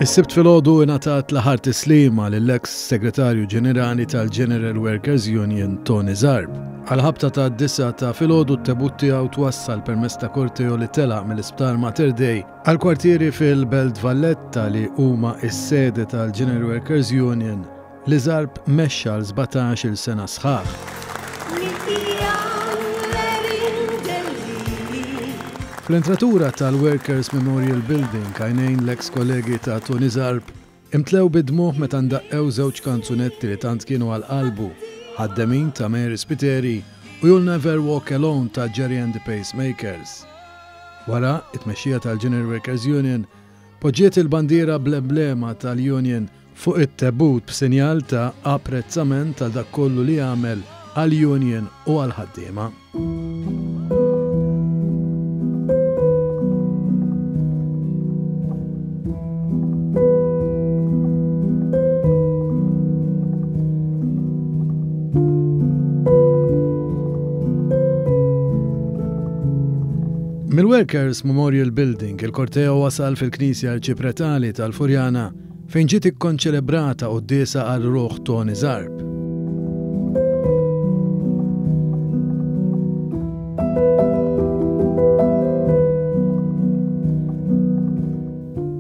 Is-Sibt filgħodu ingħatat l-aħħar tislima lill-eks Segretarju Ġenerali tal-General Workers Union Tony Zarb. Għal-ħabta ta' disa ta' filgħodu t-tebut tiegħu twassal permezz ta' korteo li telaq mill-Isptar Mater Dei għal kwartieri fil-Belt Valletta li huma s-sede tal-General Workers Union li Zarb mexxa għal 17-il sena sħaħ. Fl-entratura tal-Workers Memorial Building għajnejn l-eks kollegi ta' Tony Zarb imtlew bid-dmugħ meta ndaqqew żewġ kanzunetti li tant kienu għal qalbu, Ħaddemin ta' Mary Spiteri u You'll Never Walk Alone ta' Gerry and the Pacemakers. Wara, it-tmexxija tal-General Workers Union poġġiet il-bandiera bl-emblema tal-Union fuq it-tebut b'sinjal ta' apprezzament għal dak kollu li għamel għall-union u għall-ħaddiema. Mill-Workers Memorial Building, il-korteo wasal fil-Knisja Arċipretali tal-Furjana fejn ġiet ikkonċelebrata quddiesa għal ruħ Tony Zarb.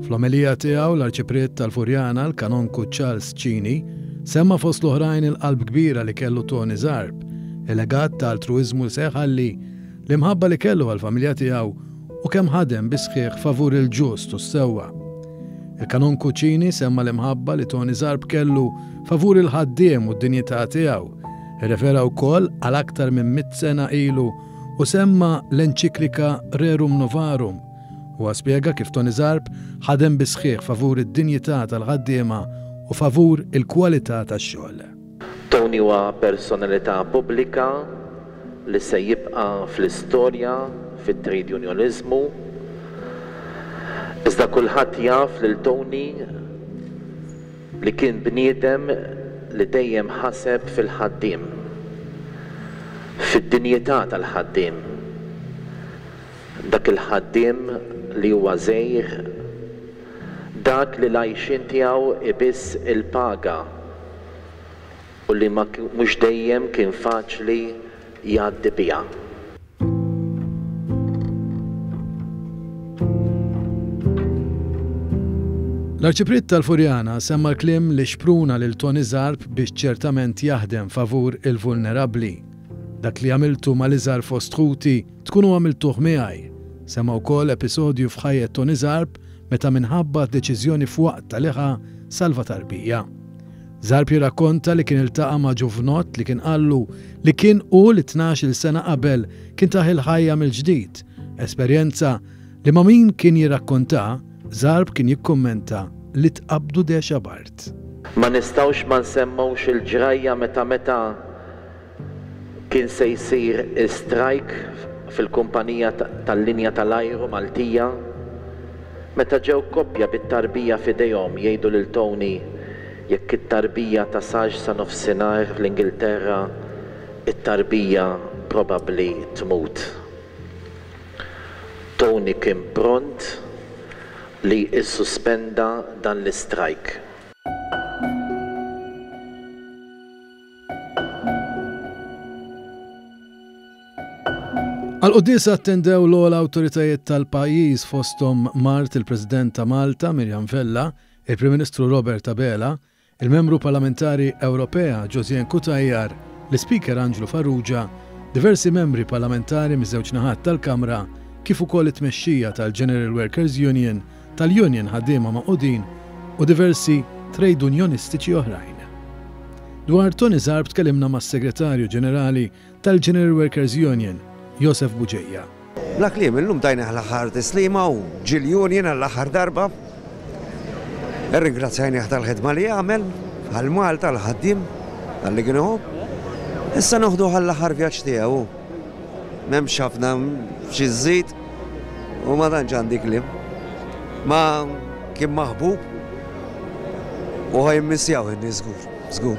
Fl-omelija tiegħu l-Arċipriet tal-Furjana, l-Kanonku Charles Cini, semma fost l-oħrajn il-qalb kbira li kellu Tony Zarb, il-legat ta' altruiżmu li se jħalli, l-imħabba li kellu għall-familja tiegħu u kemm ħadem bis-sħiħ favur il-ġust u s-sewwa. Il-Kanonku Cini semma l-imħabba li Tony Zarb kellu favur il-ħaddiem u d-dinjità tiegħu. Irrefera wkoll għal aktar minn mitt sena ilu u semma l-enċiklika Rerum Novarum. Huwa spjega kif Tony Zarb ħadem bis-sħiħ favur id-dinjità tal-ħaddiema u favur il-kwalità tax-xogħol. Tony huwa personalità pubblika li se jibqa' fl-istorja fit-trejdjunjoniżmu. Iżda kulħadd jaf lil Tony li kien bniedem li dejjem ħaseb fil-ħaddiem, fid-dinjità tal-ħaddiem, dak il-ħaddiem li huwa żgħir, dak li l-għajxien tiegħu ibiss il-paga u li ma mhux dejjem kien faċli jgħaddi biha. L-Arċipriet tal-Furjana semma l-kliem li xpruna lil Tony Zarb biex ċertament jaħdem favur il-vulnerabbli. Dak li għamiltu mal-iżgħar fost ħuti tkunu għamiltuh miegħi. Semma wkoll episodju f'ħajjet Tony Zarb meta minħabba deċiżjoni f'waqtha li ħa salva tarbija. Zarb jirrakkonta li kien iltaqa' ma' ġuvnott li kien qallu li kien hu li 12-il sena qabel kien tah il-ħajja mill-ġdid, esperjenza li ma' min kien jirrakkontaha, Zarb kien jikkummenta li tqabbdu dehxa b'art. Ma nistgħux ma nsemmux il-ġrajja meta meta Kien se jsir strajk fil-kumpanija tal-linja tal-ajru Maltija meta ġew koppja bit-tarbija f'idejhom jgħidu lil Tony jekk it-tarbija tasalx sa nofsinhar fl-Ingilterra it-tarbija probabbli tmut. Tony kien pront li ssuspenda dan l-istrajk. Għall-quddiesa attendew l-ogħla awtoritajiet tal-pajjiż fosthom mart il-President ta' Malta Miriam Vella, il-Prim Ministru Robert Abela, il-Membru Parlamentari Ewropea Josianne Cutajar, l-Ispeaker Anġlu Farrugia, diversi membri parlamentari miż-żewġ naħat tal-Kamra kif ukoll it-tmexxija tal-General Workers Union, tal-Union Ħaddiema Magħqudin u diversi trejdunjonistiċi oħrajn. Dwar Tony Zarb tkellimna mas-Segretarju Ġenerali tal-General Workers Union, Josef Bugeja. Bla kliem, illum tajnih l-aħħar tislima u ġie l-union għall-aħħar darba. Irringrazzjajnih tal-ħidma li għamel għal Malta, għall-ħaddiem, talli kien iħobb. Issa noħduh għall-aħħar vjaġġ tiegħu. M'hemmx ħafna xi żżid u ma tantx għandi kliem. Ma kien maħbub u ħa jimmissjaw in-nies żgur, żgur.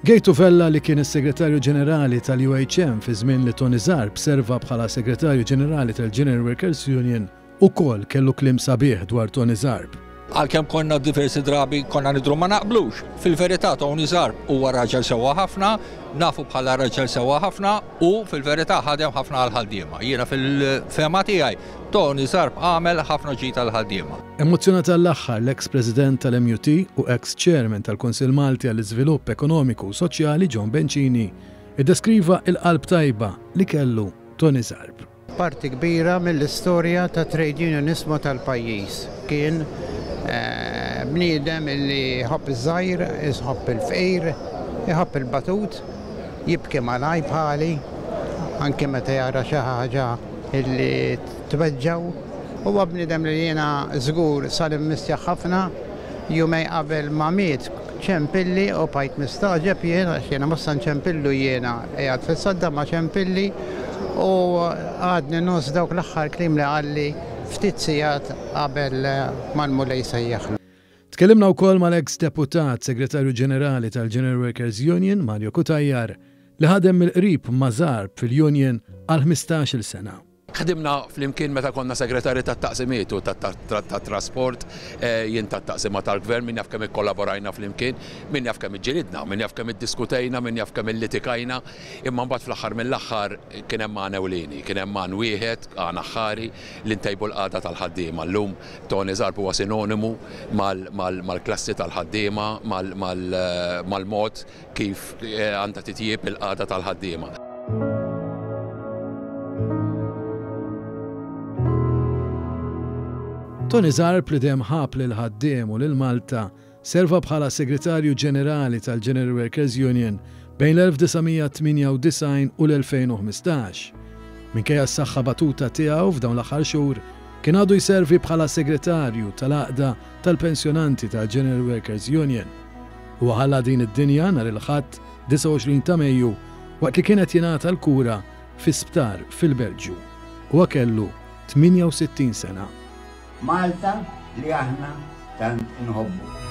Gejtu Vella li kien is-Segretarju Ġenerali tal-UHM fi żmien li Tony Zarb serva bħala Segretarju Ġenerali tal-General Workers Union ukoll kellu kliem sabiħ dwar Tony Zarb. Għalkemm konna diversi drabi konna nidhru ma naqblux, fil-verità Tony Zarb huwa raġel sewwa ħafna, nafu bħala raġel sewwa ħafna u fil-verità ħadem ħafna għall-ħaddiema. Jiena fil-fehma tiegħi Tony Zarb għamel ħafna ġid għall-ħaddiema. Emozzjonat għall-aħħar l-eks President tal-MUT u eks Chairman tal-Kunsill Malti għall-Iżvilupp Ekonomiku u Soċjali John Bencini iddeskriva il-qalb tajba li kellu Tony Zarb. Parti kbira mill-istorja tat-trade unionismu tal-pajjiż. Kien bniedem li jħobb iż-żgħir, iħobb il-fqir, iħobb il-batut, jibki malajr bħali, anki meta jara xi ħaġa li tweġġgħu. Huwa bniedem li jiena żgur sar immissjah ħafna. Jumejn qabel ma miet ċempilli u bqajt mistagħġeb jien għax jiena mhux sa nċempillu jiena qiegħed fis-sodda ma ċempilli u għadni ngħożż dawk l-aħħar kliem li qalli ftit sigħat qabel ma l-Mulej sejjaħlu. Tkellimna wkoll mal-eks Deputat Segretarju Ġenerali tal-General Workers Union, Mario Cutajar, li ħadem mill-qrib ma' Zarb fil-union għal 15-il sena. Ħdimna flimkien meta konna segretarji tat-taqsimiet u tat-trasport, jien tat-taqsima tal-Gvern, min jaf kemm ikkollaborajna flimkien, min jaf kemm iġġilidna, min jaf kemm iddiskutejna, min jaf kemm illitikajna, imma mbagħad fl-aħħar mill-aħħar kien hemm għan ewlieni, kien hemm għan wieħed, għan aħħari, li ntejbu l-qagħda tal-ħaddiema. Llum Tony Zarb huwa sinonimu mal-klassi tal-ħaddiema, mal-mod kif għandha titjieb il-qagħda tal-ħaddiema. Tony Zarb li dejjem ħab lill-ħaddiem u lil Malta, serva bħala Segretarju Ġenerali tal-General Workers Union bejn l-1998 u l-2015. Minkejja s-saħħa batuta tiegħu f'dawn l-aħħar xhur, kien għadu jservi bħala Segretarju tal-Għaqda tal-Pensjonanti tal-General Workers Union. Huwa ħalla din id-dinja nhar il-Ħadd 29 ta' Mejju waqt li kien qed jingħata l-kura fi sptar fil-Belġju. Huwa kellu 68 sena. Malta li aħna tant inħobbu.